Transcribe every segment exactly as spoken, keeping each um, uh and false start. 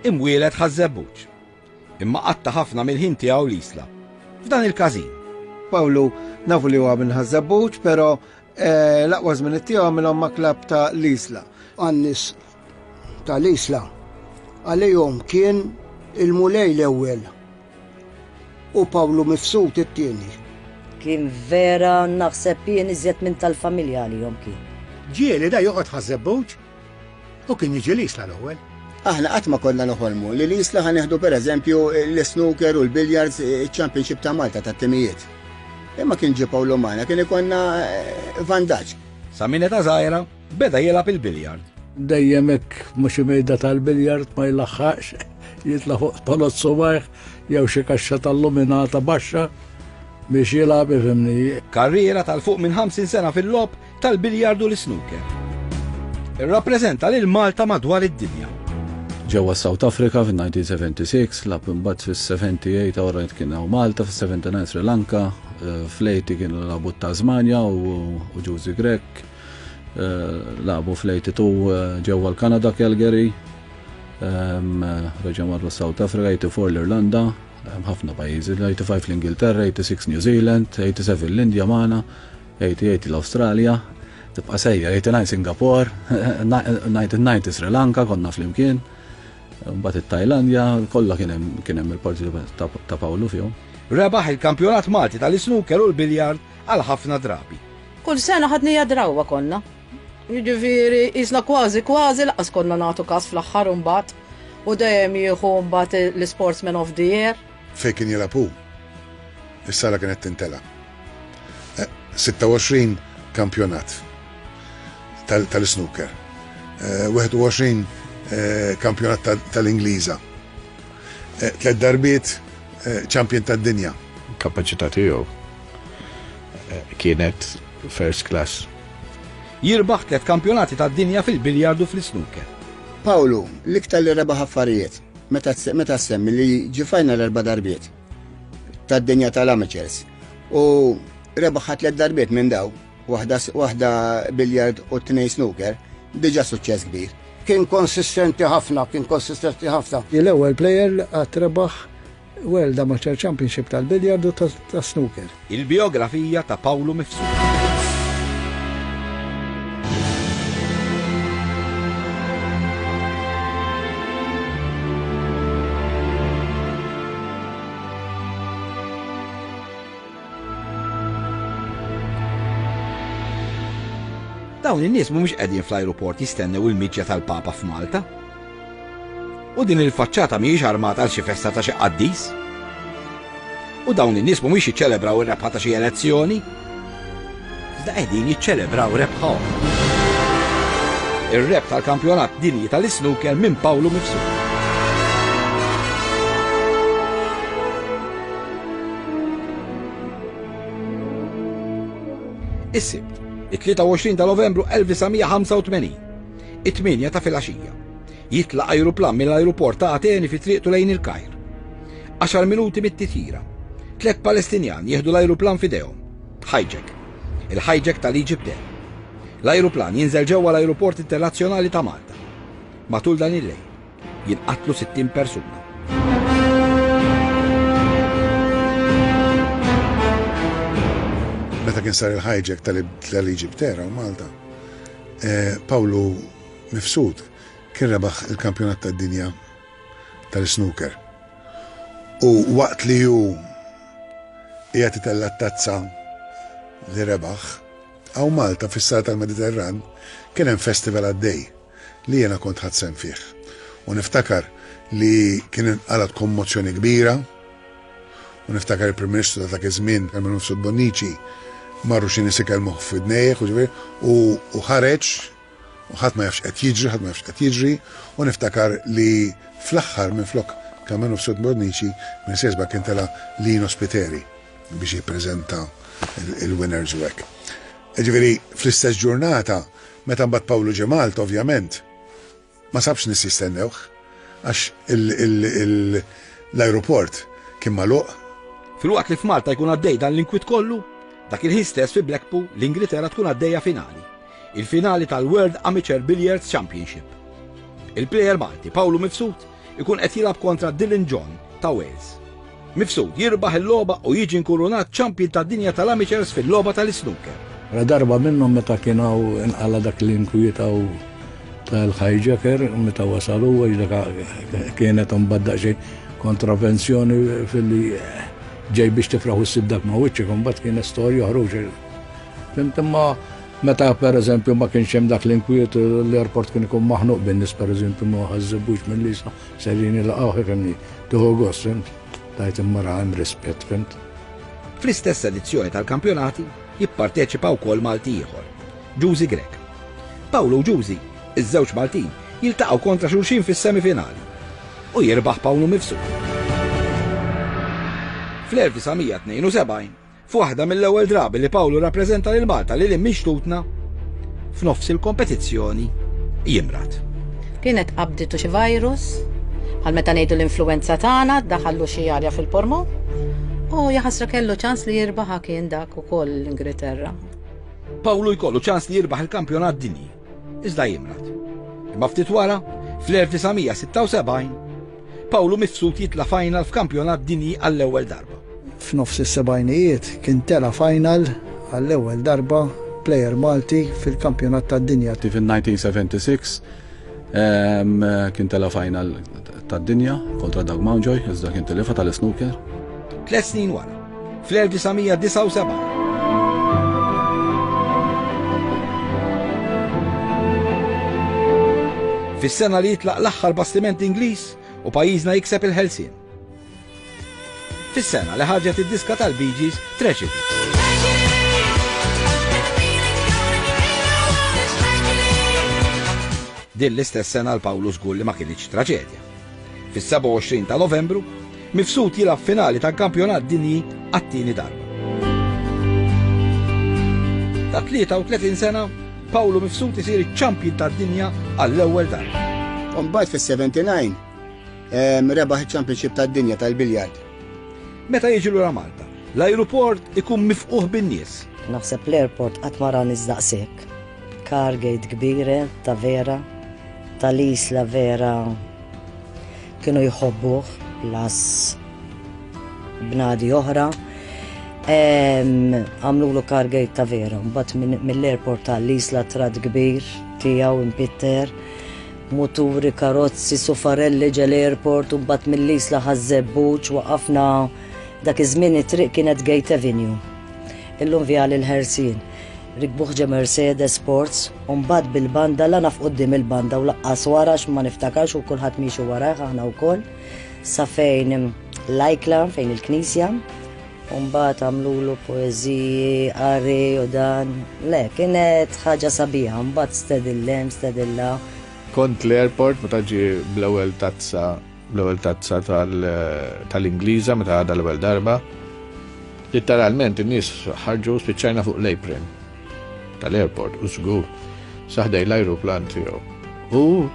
Imwieled Ħaż-Żebbuġ. Imma qatta ħafna mill-ħin tiegħu l-Isla. F'dan il-każin. Pawlu nafu li huwa minn Ħaż-Żebbuġ, però eh, l-aqwa żmien tiegħu għamilhom ma' klabb ta' l-Isla. Għan-nies tal-Isla għalihom kien il-Mulej l-ewwel u Pawlu Mifsud it-tieni. Kien vera naħseb jien iżjed minn tal-familja għalihom kien. Ġieli da joqgħod Ħaż-Żebbuġ u kien jiġi l-Isla l-ewwel. Aħna qatt ma konna noħolmu li l-Isla ħa nieħdu pereżempju l-snooker u l-billiards, il-Championship ta' Malta tat-timijiet. Imma kien ġie Pawlu magħna, kien ikollna eh, vantaġġ. Sa minn età żgħira beda jilgħab il-biljard. Dejjem hekk mhux mejda tal-biljard ma jlaħħaqx, jitla' fuq tolot subajh jew xi kaxxa tal-luminata baxxa biex jilgħab, ifhimni. Karriera tal-fuq minn ħamsin sena fil-logħob tal-biljardu l-snooker. Irrappreżenta lil Malta madwar id-dinja. Ġewwa South Africa fin-elf disa' mija u sebgħa u sebgħin, lagħab imbagħad fis-sebgħa u sebgħin ora kien hawn Malta, fis-sebgħa u sebgħin Sri Lanka, eh, fl-tmenin kienu lagħbu Tasmania u u Ġużi Grech, eh, lagħbu fl-tnejn u tmenin eh, ġewwa l-Kanada, Calgary, ehm, reġgħu marru South Africa, tmenin u erbgħin l-Irlanda, hemm ħafna pajjiżi, tmenin u ħamsa l-Ingilterra, sitta u tmenin New Zealand, sebgħa u tmenin l-Indja magħna, tmenin u tmenin l-Awstralja, tibqa' sejja, tmenin u disgħin Singapore, disgħa u disgħin Sri Lanka konna flimkien. Mbagħad it-Tajlandja, kollha kien hemm kien hemm il-parti ta' ta' Pawlu fihom. Rebaħ il-kampjonat Malti tal-snooker u l-biljard għal ħafna drabi. Kull sena ħadnieha drawwa konna. Jiġifieri jisna kważi kważi lanqas konna nagħtu kas fl-aħħar imbagħad. U dejjem jieħu mbagħad l-Sportsman of the Year. Fejn kien jilgħab hu, is-sala kienet tintela. Eh, sitta u għoxrin kampjonat tal- tal-snooker. Eh, wieħed u għoxrin eh, kampjonat tal- tal-Ingliża. Eh, Tlet darbiet eh, champion tad-dinja. Kapaċità tiegħu eh, kienet first class. Jirbaħ tliet kampjonati tad-dinja fil-biljardu fl-snooker. Pawlu, l-iktar li rebaħ affarijiet, meta meta semmi li ġie final erba' darbiet tad-dinja tal-amateurs u rebaħ tliet darbiet minn daw, waħda waħda biljard u tnejn snooker, diġà suċċess kbir. Kien konsistenti ħafna, kien konsistenti ħafna. L-ewwel player li qatt rebaħ World Amateur Championship tal-biljardu tas-snooker. Il-biografija ta' Pawlu Mifsud. Dawn in-nies mhumiex qegħdin fl-ajruport jistennew il-miġja tal-Papa f'Malta. U din il-faċċata mhijiex armata għal xi festa ta' xi qaddis. U dawn in-nies mhumiex jiċċelebraw ir-rebħa ta' xi elezzjoni. Iżda qegħdin jiċċelebraw rebħa oħra. Ir-rebħ tal-kampjonat dinji tal-snooker minn Pawlu Mifsud. Is-Sibt, it-tlieta u għoxrin ta' Novembru elf disa' mija ħamsa u tmenin, it-tmienja ta' filgħaxija. Jitlaq ajruplan mill-ajruport ta' Ateni fi triqtu lejn il-Kajr. Għaxar minuti mit-titjira. Tlet Palestinjan jieħdu l-ajruplan f'idejhom. Hijack. Il-hijack tal-Egypt Air. L-ajruplan jinżel ġewwa l-ajruport internazzjonali ta' Malta. Matul dan il-lejl jinqatlu sittin persuna. Meta kien sar il-hijack tal-Egypt Air hawn Malta, eh, Pawlu Mifsud kien rebaħ il-kampjonat tad-dinja tal-snooker. U waqt li hu qiegħed itella' t-tazza li rebaħ, hawn Malta fis-sala tal-Mediterran kien hemm festival għaddej li jiena kont ħadt sehem fih. U niftakar li kien inqalat kommozzjoni kbira u niftakar il-Prim Ministru ta' dak iż-żmien, Karmenu Mifsud Bonnici, marru xi nies ikellmuh f'idnejh u ġifieri u u ħareġ u ħadd ma jafx qed jiġri, ħadd ma jafx qed jiġri, u niftakar li fl-aħħar minflok Karmenu Mifsud Bonnici minn sesba kien tela Lino Spiteri biex jippreżenta il-winners u hekk. Ġifieri fl-istess ġurnata, meta mbagħad Pawlu ġie Malta, ovvjament, ma sabx nies jistennewh għax l-aeroport kien magħluq. Filwaqt li f'Malta jkun għaddej dan l-inkwit kollu, dak il-ħin stess fi Blackpool, l-Ingilterra, tkun għaddejja finali. Il-finali tal-World Amateur Billiards Championship. Il-player Malti Pawlu Mifsud ikun qed jilgħab kontra Dylan John ta' Wales. Mifsud jirbaħ il-logħba u jiġi nkurunat champion tad-dinja tal-amateurs fil-logħba tal-snooker. Ra darba minnhom meta kien hawn inqala dak l-inkwiet tal-hijacker meta wasalu għax kienet imbagħad daqsxejn kontravenzjoni filli ġej biex tifraħ u ssib dak ma' wiċċek, imbagħad kienet storja ħruġ. Fhimt imma meta pereżempju ma kienx hemm dak l-inkwiet l-airport kien ikun maħnuq bin-nies pereżempju ma Ħaż-Żebbuġ mill-Isla serin jilqgħuh ifhimni tieħu gost, fhimt? Tajt imma ra hemm rispett, fhimt? Fl-istess edizzjoni tal-kampjonati jipparteċipa wkoll Malti ieħor, Ġużi Grech. Pawlu u Ġużi, iż-żewġ Maltin, jiltaqgħu kontra xulxin fis-semifinali u jirbaħ Pawlu Mifsud. Fl-elf disa' mija tnejn u sebgħin, f'waħda mill-ewwel drabi li Pawlu rappreżenta lil Malta lil hinn minn xtutna, f'nofs il-kompetizzjoni jimrad. Kienet qabditu xi virus, bħal meta ngħidu l-influenza tagħna, daħallu xi arja fil-pormon. U jaħasra kellu ċans li jirbaħa kien dak ukoll l-Ingilterra. Pawlu jkollu ċans li jirbaħ il-kampjonat dinji, iżda jimrad. Imma ftit wara, fl-elf disa' mija sitta u sebgħin, Pawlu Mifsud jitla' final f'kampjonat dinji għall-ewwel darba. F'nofs is-sebgħinijiet kien tela' final għall-ewwel darba player Malti fil-kampjonat tad-dinja. Fin-nineteen seventy-six, ehm, kien tela' final tad-dinja kontra Doug Mountjoy, iżda kien telifa tal-snooker. Tliet snin wara, fl-elf disa' mija disgħa u sebgħin. Fis-sena li jitlaq l-aħħar bastiment Ingliż u pajjiżna jikseb il-ħelsien. Fis-sena li ħarġet id-diska tal-Bee Gees Tragedy. Din l-istess sena l-Pawlu żgur li ma kienx traġedja. Fis-sebgħa u għoxrin ta' Novembru, Mifsud jilgħab finali tal-kampjonat dinji għat-tieni darba. Ta' tlieta u tletin sena, Pawlu Mifsud isir iċ-champion tad-dinja għall-ewwel darba. U mbagħad fis-seventy-nine, ehm, rebaħ iċ-championship tad-dinja tal-biljard. Meta jiġi lura Malta, l-ajruport ikun mifquħ bin-nies. Naħseb l-airport qatt ma ra nies daqshekk. Cargate kbira ta' vera, tal-Isla vera kienu jħobbuh las bnadi oħra. Em, għamlulu cargate ta' vera, mbagħad minn, mill-airport tal-Isla trad kbir tiegħu impitter, muturi, karozzi, sufarelli ġel airport, u mbagħad mill-Isla Ħaż-Żebbuġ waqafna dak iż-żmien it-triq kienet Gate Avenue. Illum Vjal il-Ħelsien. Rikbuh ġe Mercedes Sports, u mbagħad bil-banda la naf quddiem il-banda u laqqas wara x'ma niftakarx u kulħadd miexi warajh aħna wkoll. Sa fejn l-ajkla, fejn il-knisja, u mbagħad għamlulu poeżiji, qari u dan. Le, kienet ħaġa sabiħa, mbagħad stedillem, stedilla. Kont l-airport meta ġie bl-ewwel tazza, bl-ewwel tazza tal-, tal-Ingliża meta għadha l-ewwel darba. Literalment in-nies ħarġu spiċċajna fuq l-apron tal-airport u żgur saħdej l-ajruplan tiegħu. U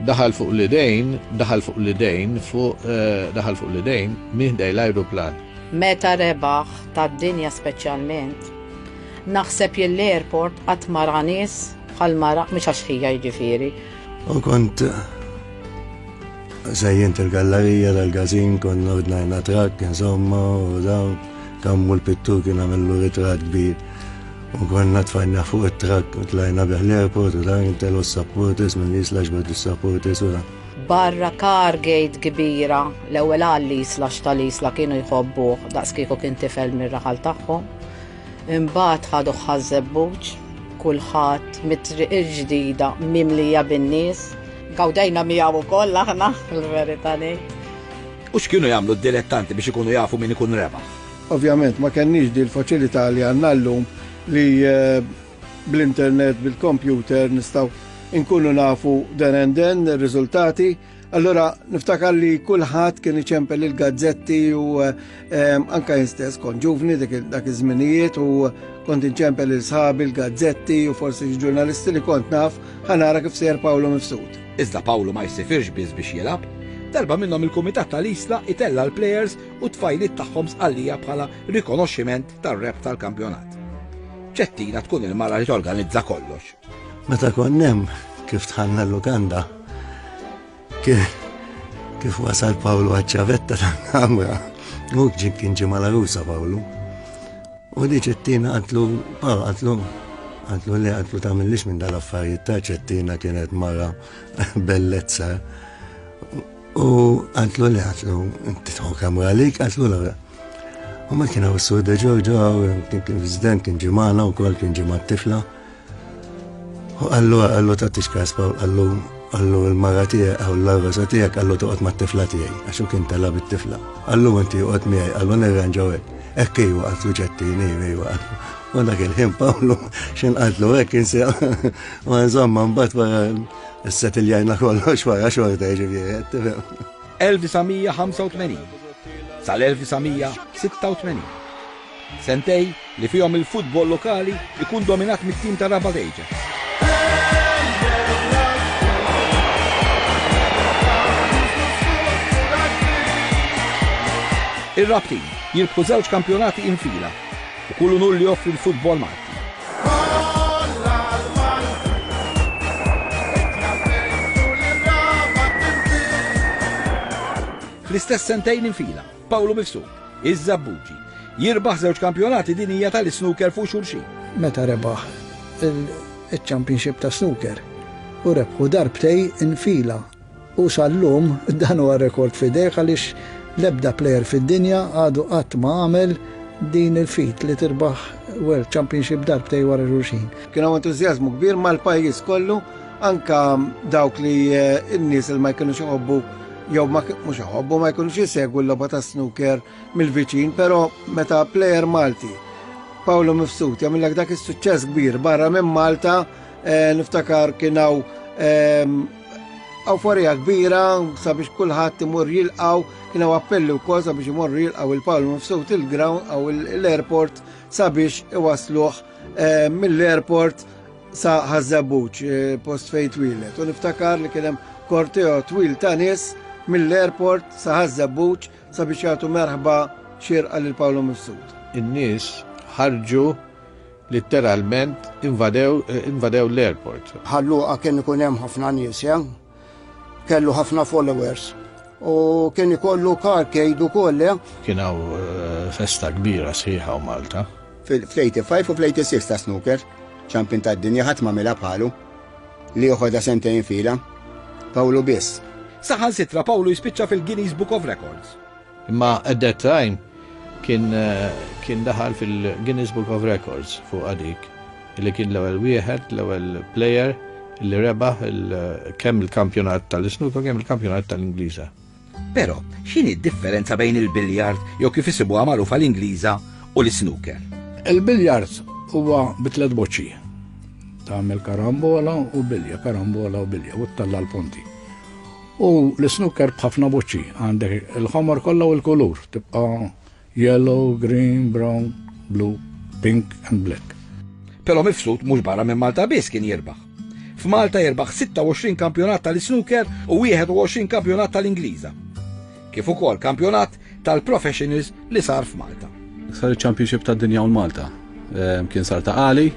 daħal fuq l-idejn, daħal fuq l-idejn, fuq, eh, daħal fuq l-idejn minn ħdej l-ajruplan. Meta rebaħ tad-dinja speċjalment, naħseb jien l-airport qatt ma ra nies bħal ma ra, mhux għax ħija jiġifieri. U kont sejjint il-gallerija tal-gazin, kont ordnajna trakk, insomma, u dawn, kammu l-pittur kien għamillu ritratt kbir. U konna tfajna fuq it-trakk u tlajna bih l-airport u dan intelu s-supporters minn Isla ġbed is-supporters u dan. Barra cargate kbira, l-ewwel għall-Isla x'tal-Isla kienu jħobbuh daqs kieku kien tifel mir-raħal tagħhom. Imbagħad ħadu Ħaż-Żebbuġ, kulħadd mit-triq il-ġdida mimlija bin-nies. Gawdejna miegħu wkoll aħna, il-verità ngħid. U x'kienu jagħmlu d-dilettanti biex ikunu jafu min ikun rebaħ? Ovvjament ma kenniex di l-faċilità li għandna llum li, eh, bl-internet, bil-computer nistgħu nkunu nafu den and den ir-riżultati. Allora niftakar li kulħadd kien iċempel il-gazzetti u, eh, anka jien stess kont ġuvni dik il-, dak iż-żminijiet u kont inċempel il sħabi l-gazzetti u forsi xi ġurnalisti li kont naf ħa nara kif sejjer Pawlu Mifsud. Iżda Pawlu ma jsifirx biss biex jilgħab. Darba minnhom il-kumitat tal-Isla itella l-players u tfajliet tagħhom sqallija bħala rikonoxximent tar-rep tal-kampjonat. Ċettina tkun il-mara li torganizza kollox. Meta kont hemm kif tħanna l-lukanda, kien, Kif wasal Pawlu għaċ-ċavetta tal-kamra, u ġin kien ġie mal-għarusa Pawlu. U di Ċettina qaltlu, Pawlu qaltlu, qaltlu le, qaltlu tagħmillix minn dal-affarijiet ta' Ċettina kienet mara bellezza. U qaltlu le, qaltlu, inti tħu kamra għalik, qaltlu le. U ma kien hawn Sur De Giorgio, kien kien president, kien ġimana u kol kien ġimgħa tifla. U qallu, qallu tagħtix każ Pawl, qallu, qallu l-mara tiegħek aw l-għarusa tiegħek, qallu toqgħod mat-tifla tiegħi, għax hu kien tela' bit-tifla. Qallu inti oqgħod miegħi, qallu nirranġaw hekk. Hekk iwa, qaltlu Ċettini, iwa, qaltlu. U dak il-ħin Pawlu x'in qaltlu hekk insi. U insomma mbagħad wara ssettiljajna kollox wara xorta jiġifieri, qed tifhem. elf disa' mija ħamsa u tmenin sal-elf disa' mija sitta u tmenin. Sentej li fihom il-futbol lokali ikun dominat mit-tim ta' Rabat Ajax. Ir-Rabtin jirbħu żewġ kampjonati infila u kull unur li joffri l-futbol Malti. Fl-istess sentejn infila, Pawlu Mifsud, iż-Żabbuġi, jirbaħ żewġ kampjonati dinija tal-snooker fuq xulxin. Meta rebaħ il-championship ta' snooker u rebħu darbtej infila. U sal-lum dan huwa rekord f'idejh għaliex l-ebda player fid-dinja għadu qatt ma għamel din il-fit li tirbaħ World Championship darbtej wara xulxin. Kien hawn entużjażmu kbir mal-pajjiż kollu, anka dawk li, eh, n-nies li ma jkunux iħobbu jew ma k-, mhux iħobbu, ma jkunux jisegwu l-logħba ta' snooker mill-viċin, però meta player Malti Pawlu Mifsud jagħmilek dak is-suċċess kbir barra minn Malta, eh, niftakar kien hawn, ehm, awforija kbira sabiex kulħadd imur jilqgħu, kien hawn appelli wkoll sabiex imorru jilqgħu il-Pawlu Mifsud il-ground aw l-airport sabiex iwasluh, eh, mill-airport sa Ħaż-Żebbuġ, eh, post fejn twieled. U niftakar li kien hemm korteo twil ta' nies mill-airport sa Ħaż-Żebbuġ sabiex jagħtu merħba xierqa lil Pawlu Mifsud. In-nies ħarġu litteralment invadew, eh, invadew l-airport. Ħalluqa kien ikun hemm ħafna nies, ja? Kellu ħafna followers. U kien ikollu carcade ukoll, ja? Kien hawn, eh, festa kbira sħiħa u Malta. Fil-eighty-five u fl-eighty-six ta' snooker, champion tad-dinja ħadd ma mela bħalu li joħodha sentejn fila. Pawlu biss. Saħansitra Pawlu jispiċċa fil-Guinness Book of Records. Imma at that time kien, eh, kien daħal fil-Guinness Book of Records fuq għadik, li kien l-ewwel wieħed, l-ewwel player li rebaħ il-, kemm il-kampjonat tal-snooker kemm il-kampjonat tal-Ingliża. Però x'inhi d-differenza bejn il-biljard jew kif isibuha magħrufa l-Ingliża u l-snooker? Il-biljard huwa bi tliet boċċi. Tagħmel karambola u bilja, karambola u bilja, u ttella' l-punti. U l-snooker b'ħafna boċċi, għandek il-ħomor kollha u l-kulur, tibqa' yellow, green, brown, blue, pink and black. Però Mifsud mhux barra minn Malta biss kien jirbaħ. F'Malta jirbaħ sitta u għoxrin kampjonat tal-snooker u wieħed u għoxrin kampjonat tal-Ingliża. Kif ukoll kampjonat tal-professionals li sar f'Malta. Sar il-Championship tad-dinja u Malta. Ehm, kien sar ta' Qali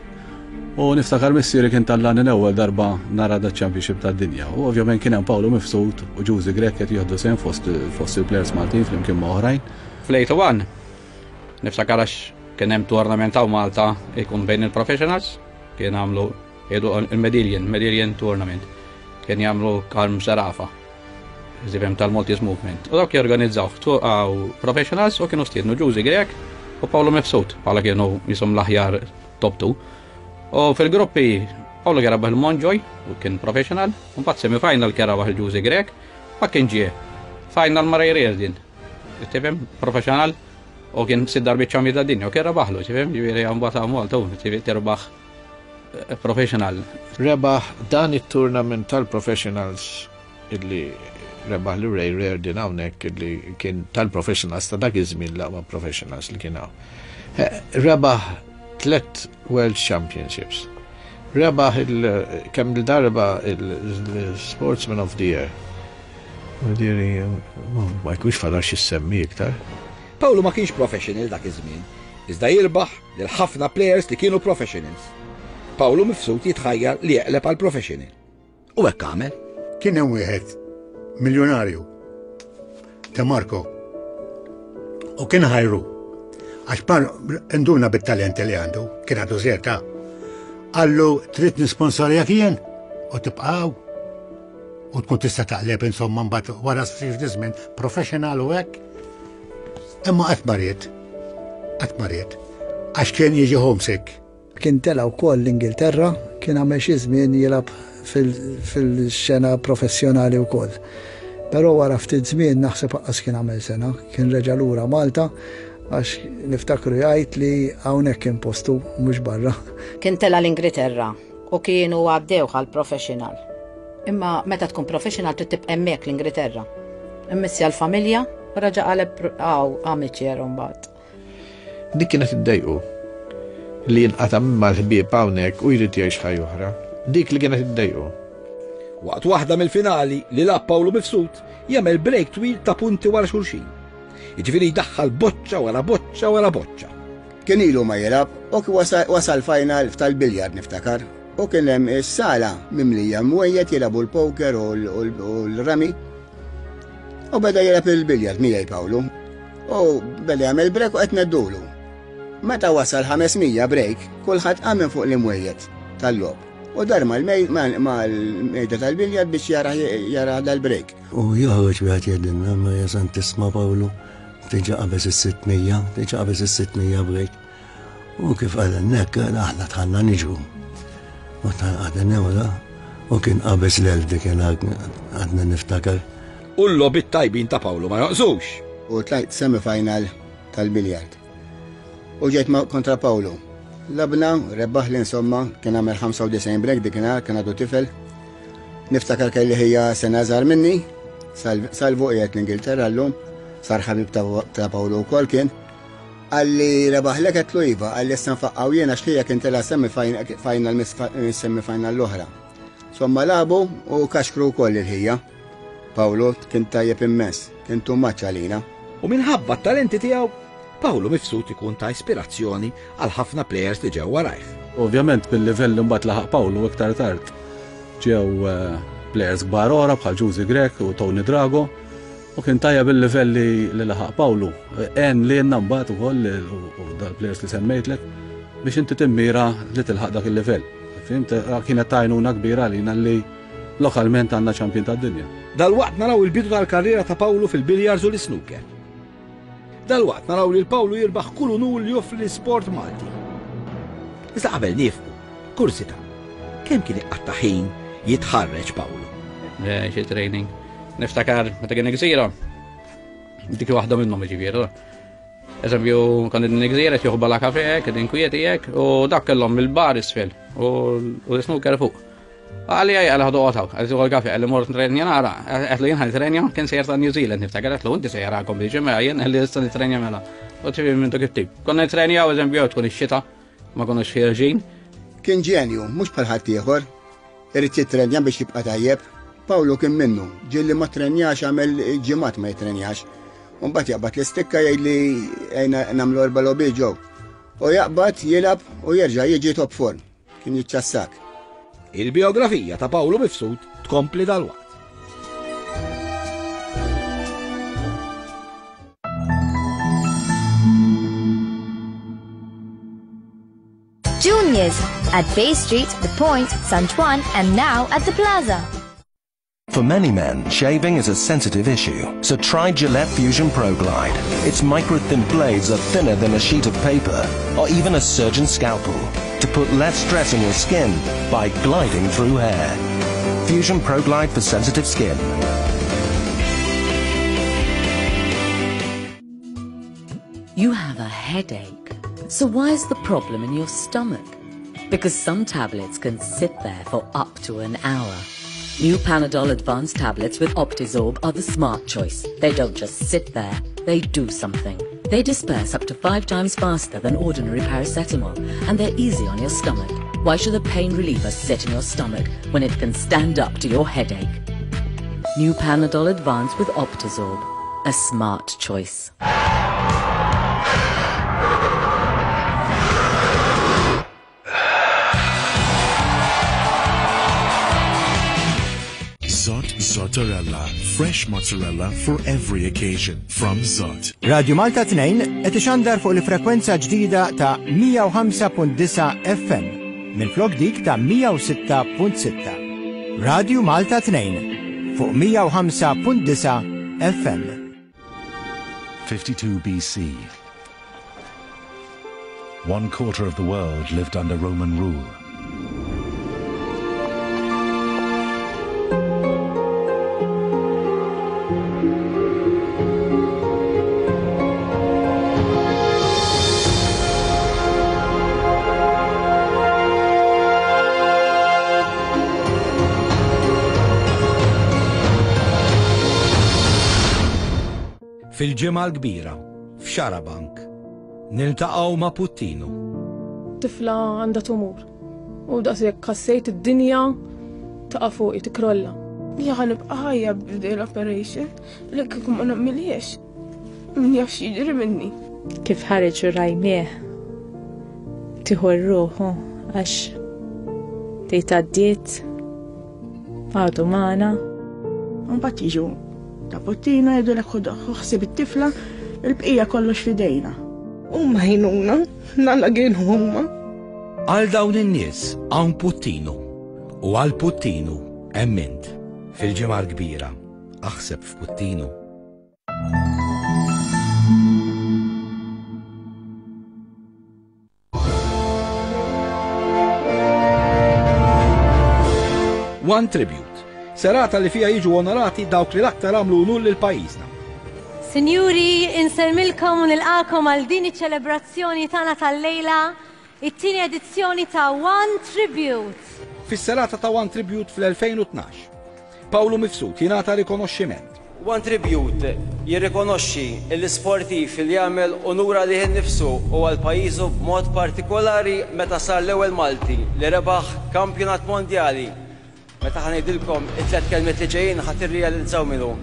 u niftakar missieri kien tallani l-ewwel darba nara da Championship tad-dinja. U ovvjament kien hemm Pawlu Mifsud u Ġużi Grech qed jieħdu sehem fost, fost il-players Maltin flimkien ma' oħrajn. Fl-eighty-one niftakar għax kien hemm tournament hawn Malta ikun bejn il-professionals, kien għamlu jgħidu il-Medillion, Medillion Tournament. Kien jagħmlu Karm Serafa, żibem tal-Maltese Movement. U dawk jorganizzaw għaw professionals u kienu stiednu Ġużi Grech u Pawlu Mifsud bħala kienu jisom l-aħjar top two. U fil-gruppi Pawlu kien rebaħ il-Monjoy u kien professional, u mbagħad semi-final kien rebaħ il-Ġużi Grech, ma kien ġie final ma' Ray Reardon. Tifhem, professional, u kien sitt darbiet champion tad-dinja u kien rebaħlu, tifhem, ġifieri mbagħad hawn Malta u tirbaħ professional. Rebaħ dan it-tournament tal-professionals illi rebaħ li Ray Reardon hawnhekk illi kien tal-professionals ta' dak iż-żmien l-aqwa professionals li kien hawn. Eh, rebaħ tliet World Championships. Rebaħ il-, kemm il-darba il-Sportsman of the Year. Diri, ma jkunx fadal xi semmi iktar. Pawlu ma kienx professional dak iż-żmien, iżda jirbaħ lil ħafna players li kienu professionals. Pawlu Mifsud jitħajjar li jeqleb għal professional. U hekk għamel. Kien hemm wieħed miljonarju De Marco. U kien ħajru. Għax par induna bit-talenti li għandu, kien għandu żerta. Qallu trid nisponsorjak jien u tibqgħu u tkun tista' taqleb insomma mbagħad wara ftit żmien professional u hekk. Imma qatt ma ried. Qatt ma ried. Għax kien jiġi homesick. Kien tela' wkoll l-Ingilterra, kien għamel xi żmien jilgħab fil-xena professjonali wkoll. Però wara ftit żmien naħseb aqqas kien għamel sena, kien reġa' lura Malta għax niftakru jgħid li hawnhekk kien postu mhux barra. Kien tela' l-Ingilterra u kienu għaddew għal professional. Imma meta tkun professional trid tibqa' hemmhekk l-Ingilterra. Immissja l-familja u raġa' qaleb għaw amateur mbagħad. Dik kienet iddejqu li jinqata' minn mal-ħbieb hawnhekk u jrid jgħix ħajja oħra. Dik li kienet iddejqu. Waqt waħda mill-finali li lagħab Pawlu Mifsud jagħmel break twil ta' punti wara xulxin. Jiġifieri jdaħħal boċċa wara boċċa wara boċċa. Kien ilu ma jilgħab u wasal final tal-biljard niftakar. U kien hemm is-sala mimlija mwejjed jilagħbu l-poker u l-rami. U beda jilgħab il-biljard miegħi Pawlu. U beda jagħmel break u qed neddulu. Meta wasal ħames mija break, kulħadd qam minn fuq l-imwejjed tal-logħob. U dar mal-mejda tal-biljard biex jara dal-break. U joħroġ wieħed jgħidilna, ma jasan tisma' Pawlu, tiġa qabeż is-sitt mija, tiġa qabeż is-sitt mija break. U kif qalilna hekk, aħna tħanna niġru. U tħanna newra, u kien qabeż l-elf dik għadna niftakar. U l-logħbiet tajbin ta' Pawlu ma jonqsux. U tlajt semifinal tal-biljard. U ġejt kontra Pawlu. Labna, rebbaħ li insomma, kien għamel ħamsa u disgħin break dikinhar, kien għadu tifel. Niftakar kelli ħija sena żgħar minni, salvu qiegħed l-Ingilterra llum, sar ħabib ta' Pawlu wkoll kien. Qalli rebaħlek qed iva, qalli issa nfaqqgħu jien għax ħija kien tela' semifinal mis-semifinal l-oħra. Somma labu u kaxkru wkoll il-ħija. Pawlu kien tajjeb immens, kien too much għalina. U minħabba t-talenti tiegħu, Pawlu Mifsud ikun ta' ispirazzjoni għal ħafna players li ġew warajh. Ovvjament bil-livell li mbagħad laħaq Pawlu iktar tard ġew players kbar oħra bħal Ġużi Grech u Tony Drago u kien tajjeb bil-livell li laħaq Pawlu. Għen li jenna mbagħad ukoll u dal-players li semmejtlek biex inti timmira li tilħaq dak il-livell. Fimt, kienet tajnuna kbira għalina li lokalment għandna champion tad-dinja. Dalwaqt naraw il-bidu tal-karriera ta' Pawlu fil-biljards u l-snooker. Dalwaqt naraw li l-Pawlu jirbaħ kull unur li joffri l-sport Malti. Iżda qabel nifqu, kursita, kemm kien iqatta' ħin jitħarreġ Pawlu? Xi training. Niftakar meta kien gżira. Dik waħda minnhom jiġifieri. Eżempju, kont din gżira qed jieħu bala kafe, kien inkwieti hekk, u dak kellhom il-bar isfel u l-snooker fuq. Għalli għaj, għalli ħadu għotaw, għalli tuħu l-kafe, għalli mort nitrenja nara, għalli jien ħan kien sejjer ta' New Zealand, niftakar, għalli inti sejjer għakom biex mela, jien għalli issa nitrenja mela. U tifim minn dak it-tip. Konna nitrenja, eżempju, tkun ix-xita, ma konniex ħierġin. Kien ġenju, mhux bħal ħadd ieħor, irid jitrenja biex jibqa' tajjeb. Pawlu kien minnu, ġieli ma trenjax għamel ġimgħat ma jitrenjax. U mbagħad jaqbad l-istikka jgħidli ejna nagħmlu erba' logħbiet ġew. U jaqbad jilgħab u jerġa' jiġi top form. Kien jiċċassak. Il-biografija ta' Pawlu Mifsud tkompli dalwaqt. Juniors at Bay Street, The Point, San Juan, and now at the Plaza. For many men, shaving is a sensitive issue, so try Gillette Fusion ProGlide. Its micro-thin blades are thinner than a sheet of paper or even a surgeon's scalpel to put less stress on your skin by gliding through hair. Fusion ProGlide for sensitive skin. You have a headache, so why is the problem in your stomach? Because some tablets can sit there for up to an hour. New Panadol Advanced tablets with Optizorb are the smart choice. They don't just sit there, they do something. They disperse up to five times faster than ordinary paracetamol, and they're easy on your stomach. Why should a pain reliever sit in your stomach when it can stand up to your headache? New Panadol Advanced with Optizorb, a smart choice. Zot Zottarella, fresh mozzarella for every occasion from Zott. Radio Malta tnejn qed ixandar fuq il-frekwenza ġdida ta' mija u ħamsa punt disgħa F M minflok dik ta' mija u sitta punt sitta. Radio Malta tnejn fuq mija u ħamsa punt disgħa F M. fifty-two B C. One quarter of the world lived under Roman rule. Fil-ġimgħa l-kbira, f'Xarabank, niltaqgħu ma' Puttinu. Tifla għandha tumur. U daqshekk ħassejt id-dinja taqa' fuqi tikrolla. Jien ħa nibqa' ħajja b'din l-operation, li kieku ma nagħmilhiex. Min jaf x'jiġri minni. Kif ħareġ u rajnieh, tieħu r-ruħu għax tgħid għaddiet, għadu magħna. Mbagħad jiġu ta' Puttinu jgħidulek ħu ħsieb it-tifla, il-bqija kollox f'idejna. Huma ħinuna, nalla kienu huma. Għal dawn in-nies hawn Puttinu u għal Puttinu hemm int. Fil-ġimgħa l-kbira, aħseb f'Puttinu. One Tribute, serata li fija jiġu onorati dawk li l-aktar għamlu unur lil pajjiżna. Sinjuri, insellmilkom u nilqakom għal din iċ-ċelebrazzjoni tagħna tal-lejla, it-tieni edizzjoni ta' One Tribute. Fis-serata ta' One Tribute fl-elfejn u tnax, Pawlu Mifsud jingħata rikonoxximent. One Tribute jirrikonoxxi l-isportiv li jagħmel onura lih innifsu u għal pajjiżu b'mod partikolari meta sar l-ewwel Malti li rebaħ kampjonat mondjali. Meta ħa ngħidilkom it-tliet kelmiet li ġejjin ħa tirrealizzaw minnu.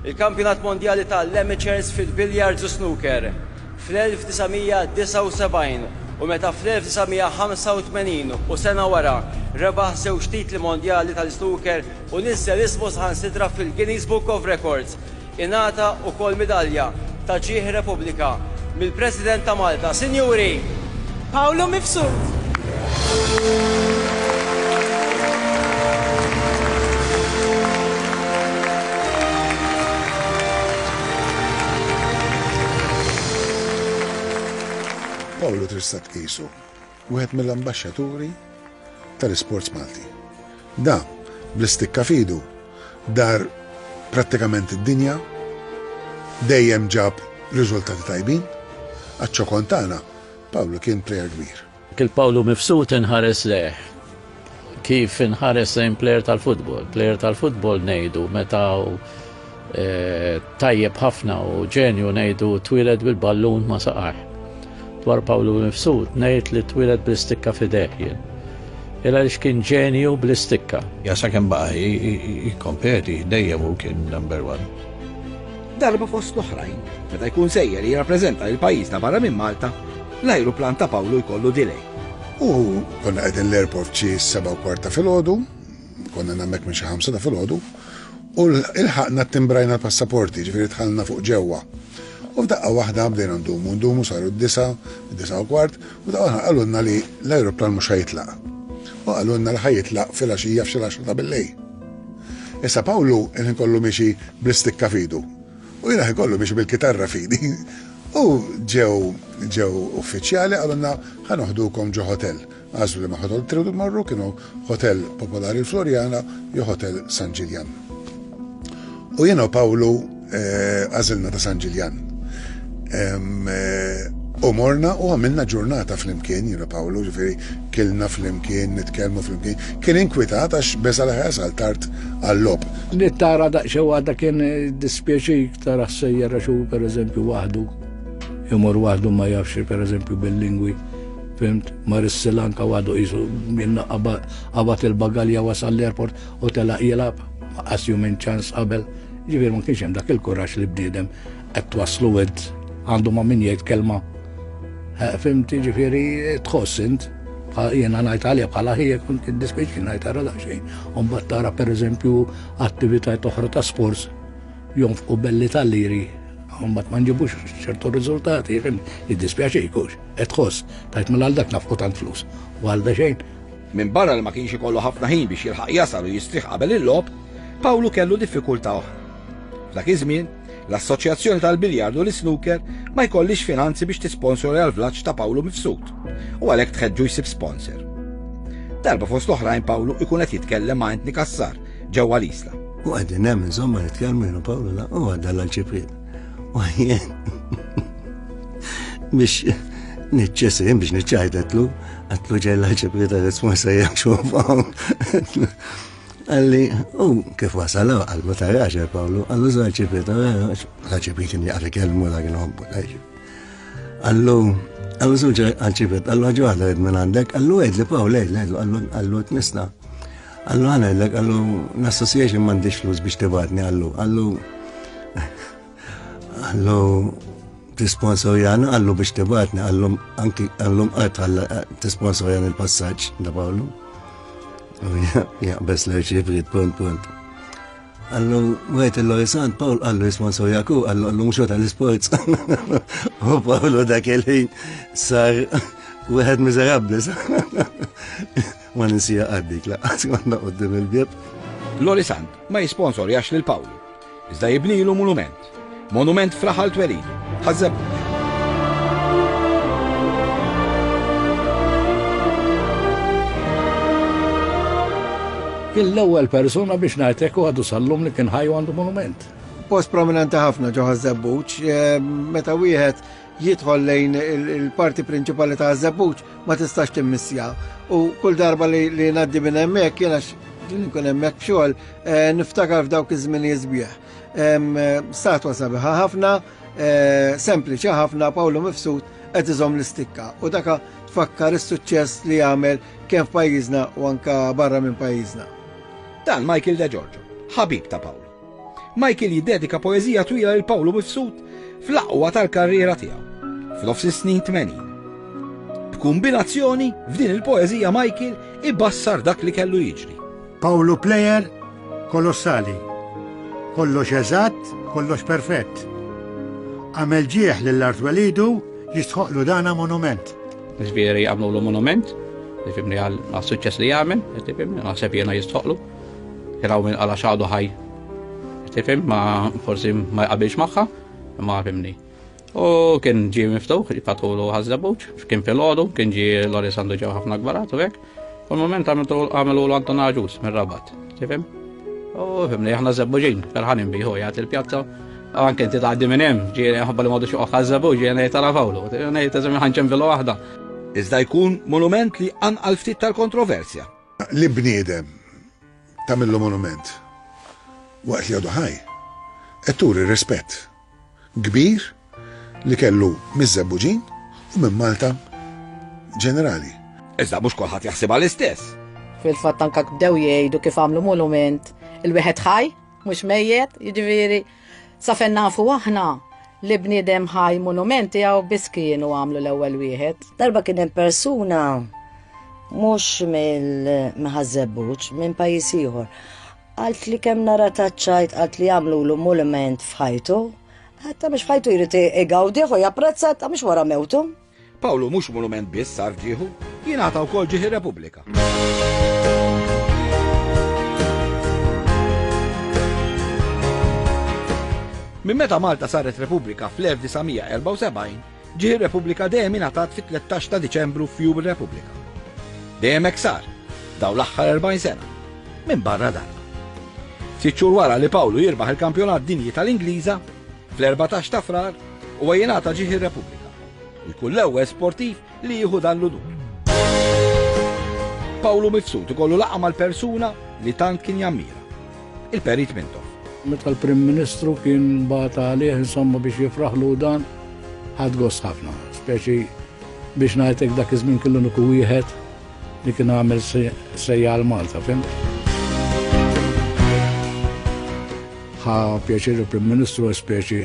Il-kampjonat mondjali tal-amateurs fil-billiards u snooker fl-elf disa' mija disgħa u sebgħin u meta fl-elf disa' mija ħamsa u tmenin u sena wara rebaħ żewġ titli mondjali tal-snooker u niżel ismu saħansitra fil-Guinness Book of Records. Ingħata wkoll midalja ta' ġieħ Repubblika mill-President ta' Malta, Sinjuri Pawlu Mifsud. Pawlu tista' tqisu wieħed mill-ambaxxaturi tal-isports Malti. Da, bl-istikka fidu, dar prattikament id-dinja, dejjem ġab riżultati tajbin, għaċ-ċokon tagħna Pawlu kien player kbir. Kil Pawlu Mifsud inħares leh, kif inħares lejn player tal-futbol. Player tal-futbol ngħidu meta hu, eh, tajjeb ħafna u ġenju ngħidu twieled bil-ballun ma saqajh. Dwar Pawlu Mifsud ngħid li twieled bl-istikka f'idejh jien. Illa għaliex kien ġenju bl-istikka. Ja sakemm baqa' jikkompeti dejjem hu kien number one. Darba fost l-oħrajn, meta jkun sejjer li jirrappreżenta lil pajjiżna barra minn Malta, l-ajruplan ta' Pawlu jkollu delay. U konna qegħdin l-airport xi seba' u kwarta filgħodu, konna hemmhekk minn xi ħamsa ta' filgħodu, u l-ħaqna timbrajna l-passaporti, ġifieri dħalna fuq ġewwa. U f'daqqa waħda bdejna ndumu, ndumu saru d-disa, d-disa u kwart, u daqqa waħda qalulna li l-ajruplan mhux ħajitlaq. U qalulna li ħajitlaq filgħaxija f'xi l-għaxra ta' billejl. Issa Pawlu il-ħin kollu miexi bl-istikka f'idu. U jiena ħin kollu miexi bil-kitarra f'idi. U ġew, ġew uffiċjali qalulna ħa noħdukom ġo hotel. Għażlu li ma hotel tridu tmorru, kienu hotel Popolari l-Floriana jew hotel San Ġiljan. U jiena u Pawlu, eh, għażilna ta' San Ġiljan. Em, eh, u morna u għamilna ġurnata flimkien, jiena Pawlu, ġifieri kilna flimkien, nitkellmu flimkien. Kien inkwitat għax beża' li ħasal tard għall-logħob. Li tara daqsxejn waħda kien dispjaċik tara sejjer għax hu pereżempju waħdu. Imur waħdu ma jafx pereżempju bil-lingwi. Fimt, mar is-Sri Lanka waħdu qisu minna qabad il-bagalja wasal l-airport u telaq jilgħab, qas jum ċans qabel. Ġifieri ma kienx hemm dak il-kuraġġ li bniedem qed twaslu int għandu ma' min jgħid kelma. Eh, fimt, ġifieri tħoss int. Jiena ngħid għalija bħala ħija kont jiddispjaċini ngħid ara daqsxejn. U mbagħad tara pereżempju attivitajiet oħra ta' sports jonfqu belli tal-liri u mbagħad ma nġibux ċertu riżultati, jiddispjaċik hux. Qed tħoss tajt mela għal dak nafqu tant flus u għal da xejn. Minn barra li ma kienx ikollu ħafna ħin biex jilħaq jasal u jistrieħ qabel il-logħob, Pawlu kellu diffikultà oħra. F'dak iż-żmien, l-Assoċjazzjoni tal-Biljardu l-Snooker ma jkollix finanzi biex tisponsorja l-vlaġġ ta' Pawlu Mifsud u għalhekk tħeġġu jsib sponsor. Darba fost l-oħrajn Pawlu ikun qed jitkellem ma' Anthony Cassar ġewwa l-Isla. U qegħdin hemm insomma nitkellmu jiena Pawlu la u għadda l-ċipriet. U jien biex niċċesim biex niċċajtetlu, għatlu ġej l-ċipriet għal sponsor jekk xuf hawn. Għalli, u kif wasal, għallu ta' raġel Pawlu, għallu za ċipriet, l-ċipriet kien jaqri kelmu la kien hobbu, Għallu, għallu zuġa għal-ċipriet, għallu ħaġa waħda minn għandek, għallu għed li Pawlu, għed, għallu għallu t-nisna. Għallu għana għedlek, għallu l-association m'għandix flus biex tibatni, għallu, għallu, għallu tisponsorjana, għallu biex tibatni, għallu anki għallu mqart tisponsorjana il-passaġġ da Pawlu. Jaqbes l-ċifrit, punt, punt. Għallu, għajt il-Lorisant, Pawl, għallu jisponsorjaku, għallu għallu mxu tal-sports. U Pawlu dak il-ħin sar wieħed miżerabbli. Ma ninsija għaddik, laqqas konna quddiem il-bieb. Lorisant ma jisponsorjax lil Pawlu, iżda jibnilu monument. Monument f'raħal twelidu, Ħaż-Żebbuġ. Kien l-ewwel persuna biex ngħidlek u għadu sal-lum li kien ħaj u għandu monument. Post prominenti ħafna ġo Ħaż-Żebbuġ, meta wieħed jidħol lejn il-parti prinċipali ta' Ħaż-Żebbuġ ma tistax timmissja. U kull darba li ngħaddi minn hemmhekk jiena nkun hemmhekk b'xogħol niftakar f'dawk iż-żmien sbieħ. Statwa sabiħa ħafna, sempliċi ħafna, Pawlu Mifsud qed iżomm l-istikka u daka tfakkar is-suċċess li jagħmel kemm f'pajjiżna u anka barra minn pajjiżna. Dan Michael De Giorgio, ħabib ta' Pawlu. Michael jiddedika poeżija twila lil Pawlu Mifsud fl-aqwa tal-karriera tiegħu, f'nofs is-snin tmenin. B'kumbinazzjoni f'din il-poeżija Michael ibassar dak li kellu jiġri. Pawlu player kolossali. Kollox eżatt, kollox perfett. Għamel ġieħ lill-art welidu jistħoqlu dana monument. Ġifieri għamlu monument, tifhimni għal suċċess li jagħmel, tifhimni, naħseb jiena jistħoqlu. Kien hawn min qala x'għadu ħaj. Tifhem, ma forsi ma jqabilx magħha, ma fimni. U kien ġie miftuħ, fatħulu Ħaż-Żebbuġ, kien filgħodu, kien ġie Loris għandu ġew ħafna kbarat u hekk. U l-moment għamelu l-Anton Agius mir-Rabat, tifhem? U fimni, aħna Żebbuġin, ferħanin biħu jgħat il-pjazza. Anke inti tgħaddi minn hemm, ġie ħabba li m'għadux joqgħod Ħaż-Żebbuġ, ġie ngħid tara Pawlu, ngħid eżem ħanċembilu waħda. Iżda jkun monument li anqal ftit tal-kontroversja. Li bniedem tagħmillu monument waqt li għadu ħaj, qed turi rispett kbir li kellu miż-Żebbuġin u minn Malta ġenerali. Iżda mhux kulħadd jaħsibha l-istess. Fil-fatt anke bdew jgħidu kif għamlu monument il-wieħed ħaj, mhux mejjet, jiġifieri sa fejn nafu aħna li bniedem ħaj monument tiegħu biss kienu għamlu l-ewwel wieħed. Darba kien hemm persuna mhux mill-Ħaż-Żebbuġ, minn pajjiż ieħor. Qalt li kemm nara taċċajt, qalt li għamlu monument f'ħajtu, ħatta mhux f'ħajtu jrid igawdih u japprezza, ta' mhux wara mewtu. Pawlu mhux monument biss sar f'ġieħu, jingħata wkoll ġieħ ir-Repubblika. Minn meta Malta saret Repubblika fl-elf disa' mija erbgħa u sebgħin, ġieħ ir-Repubblika dejjem ingħatat fit-tlettax ta' Diċembru f'Jum ir-Repubblika. Dejjem hekk sar, daw l-aħħar erbgħin sena, minn barra darba. Sitt xhur wara li Pawlu jirbaħ il-kampjonat dinji tal-Ingliża, fl-erbatax ta' Frar, huwa jingħata ġieħ ir-Repubblika u jkun l-ewwel sportiv li jieħu dan l-unur. Pawlu Mifsud ikollu laqgħa mal-persuna li tant kien jammira, il-Perit Mintoff. Meta l-Prim Ministru kien bagħat għalih insomma biex jifraħlu dan, ħadd gost ħafna, speċi biex ngħidlek dak iż-żmien kellu nuku wieħed li kien għamel sejja għal Malta, fim? Ħa pjaċir il-Prim Ministru speċi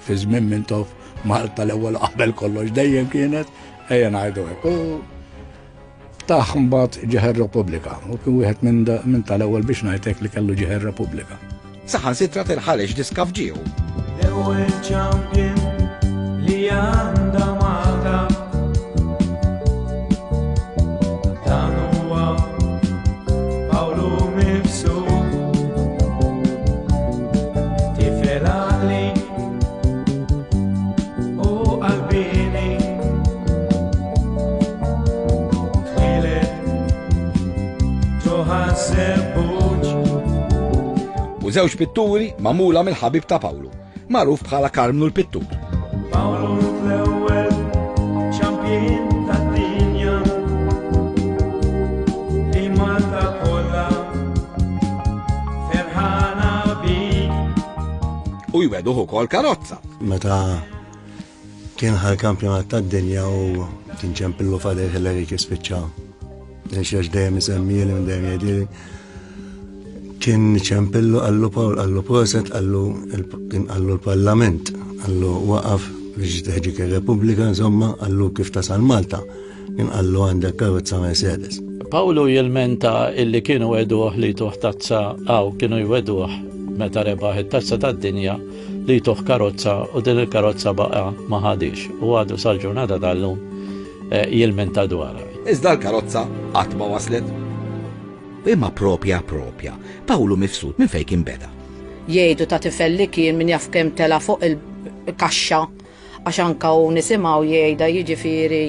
fi żmien Mintoff Malta l-ewwel qabel kollox dejjem kienet, ejja ngħidu hekk. U Kif tah mbagħad Ġieħ ir-Repubblika u kien wieħed minn tal-ewwel biex ngħidlek li kellu Ġieħ ir-Repubblika. Saħansitra tinħareġ diska f'ġieħu. L-ewwel champion li għandha Malta. Dan huwa Pawlu Mifsud. Tifel għaqli u qalbini. Twieled ġo Ħaż-Żebbuġ. U żewġ pitturi magħmula mill-ħabib ta' Pawlu, magħruf bħala Karmnu l-Pittur. Pawlu l-ewwel champion tad-dinja li Malta kollha ferħana bik. U jweduh ukoll karozza. Meta kien ħa l-kampjonat tad-dinja u kien ċempillu Father Hillary kif spiċċa. Għax dejjem isemmieli minn dejjem jgħidili. Kien ċempillu qallu Pawl, qallu proset, qallu kien qallu l-Parlament, qallu waqaf biex teħġik ir-Repubblika, insomma, qallu kif tasal Malta. Kien qallu għandek karozza Mercedes. Pawlu jilmenta illi kienu wegħduh li jtuh tazza għaw kienu jwegħduh meta rebaħ it-tazza tad-dinja li jtuh karozza u din il-karozza baqa ma ħadix u għadu sal-ġurnata tal-lum eh, jilmenta dwarha. Iżda l-karozza qatt ma waslet. Imma propja propja, Pawlu Mifsud minn fejn kien beda. Jgħidu ta' tifel li kien min jaf kemm tela fuq il-kaxxa għax anka u nisimgħu jgħidha jiġifieri